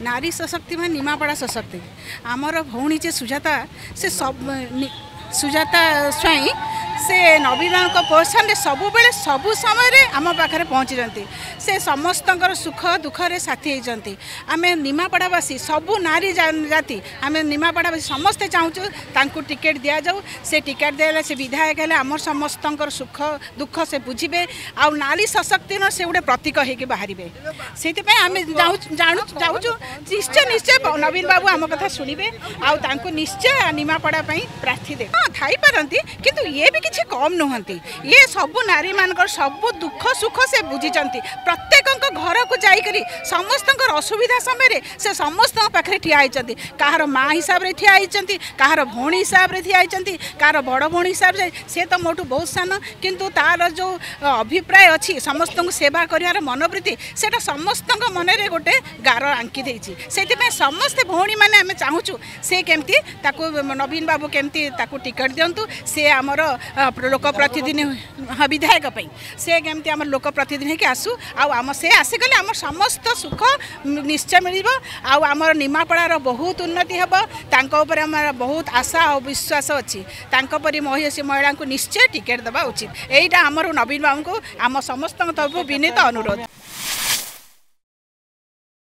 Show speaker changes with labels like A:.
A: ନାରୀ ସଶକ୍ତି ମାନେ ନିମାପଡ଼ା ସଶକ୍ତି। ଆମର ଭଉଣୀ ଯେ ସୁଜାତା, ସେ ସୁଜାତା ସ୍ୱାଇଁ, ସେ ନବୀନଙ୍କ ପୋଜିସନରେ ସବୁବେଳେ ସବୁ ସମୟରେ ଆମ ପାଖରେ ପହଞ୍ଚିଛନ୍ତି। ସେ ସମସ୍ତଙ୍କର ସୁଖ ଦୁଃଖରେ ସାଥୀ ହେଇଛନ୍ତି। ଆମେ ନିମାପଡ଼ାବାସୀ, ସବୁ ନାରୀ ଜାତି, ଆମେ ନିମାପଡ଼ାବାସୀ ସମସ୍ତେ ଚାହୁଁଛୁ ତାଙ୍କୁ ଟିକେଟ୍ ଦିଆଯାଉ। ସେ ଟିକେଟ୍ ଦେଲେ, ସେ ବିଧାୟକ ହେଲେ ଆମର ସମସ୍ତଙ୍କର ସୁଖ ଦୁଃଖ ସେ ବୁଝିବେ ଆଉ ନାରୀ ସଶକ୍ତିର ସେ ଗୋଟେ ପ୍ରତୀକ ହେଇକି ବାହାରିବେ। ସେଇଥିପାଇଁ ଆମେ ଜାଣୁ ଯାଉଛୁ, ନିଶ୍ଚୟ ନିଶ୍ଚୟ ନବୀନ ବାବୁ ଆମ କଥା ଶୁଣିବେ ଆଉ ତାଙ୍କୁ ନିଶ୍ଚୟ ନିମାପଡ଼ା ପାଇଁ ପ୍ରାର୍ଥୀ ଦେବେ। ହଁ, ଥାଇପାରନ୍ତି, କିନ୍ତୁ ଇଏ ବି କିଛି କମ୍ ନୁହନ୍ତି। ଇଏ ସବୁ ନାରୀମାନଙ୍କର ସବୁ ଦୁଃଖ ସୁଖ ସେ ବୁଝିଛନ୍ତି। ପ୍ରତ୍ୟେକଙ୍କ ଘରକୁ ଯାଇକରି ସମସ୍ତଙ୍କର ଅସୁବିଧା ସମୟରେ ସେ ସମସ୍ତଙ୍କ ପାଖରେ ଠିଆ ହେଇଛନ୍ତି। କାହାର ମା ହିସାବରେ ଠିଆ ହେଇଛନ୍ତି, କାହାର ଭଉଣୀ ହିସାବରେ ଠିଆ ହେଇଛନ୍ତି, କାହାର ବଡ଼ ଭଉଣୀ ହିସାବରେ। ସେ ତ ମୋଠୁ ବହୁତ ସାନ, କିନ୍ତୁ ତାର ଯେଉଁ ଅଭିପ୍ରାୟ ଅଛି, ସମସ୍ତଙ୍କୁ ସେବା କରିବାର ମନୋବୃତ୍ତି, ସେଇଟା ସମସ୍ତଙ୍କ ମନରେ ଗୋଟେ ଗାର ଆଙ୍କି ଦେଇଛି। ସେଥିପାଇଁ ସମସ୍ତେ ଭଉଣୀମାନେ ଆମେ ଚାହୁଁଛୁ ସେ କେମିତି ତାକୁ ନବୀନ ବାବୁ କେମିତି ତାକୁ ଟିକେଟ୍ ଦିଅନ୍ତୁ। ସେ ଆମର ଲୋକ ପ୍ରତିନିଧି, ହଁ, ବିଧାୟକ ପାଇଁ ସେ କେମିତି ଆମର ଲୋକ ପ୍ରତିନିଧି ହେଇକି ଆସୁ। ଆଉ ଆମ ସେ ଆସିଗଲେ ଆମର ସମସ୍ତ ସୁଖ ନିଶ୍ଚୟ ମିଳିବ ଆଉ ଆମର ନିମାପଡ଼ାର ବହୁତ ଉନ୍ନତି ହେବ। ତାଙ୍କ ଉପରେ ଆମର ବହୁତ ଆଶା ଆଉ ବିଶ୍ୱାସ ଅଛି। ତାଙ୍କ ପରି ମହିଷୀ ମହିଳାଙ୍କୁ ନିଶ୍ଚୟ ଟିକେଟ୍ ଦେବା ଉଚିତ। ଏଇଟା ଆମର ନବୀନ ବାବୁଙ୍କୁ ଆମ ସମସ୍ତଙ୍କ ତରଫରୁ ବିନୀତ ଅନୁରୋଧ।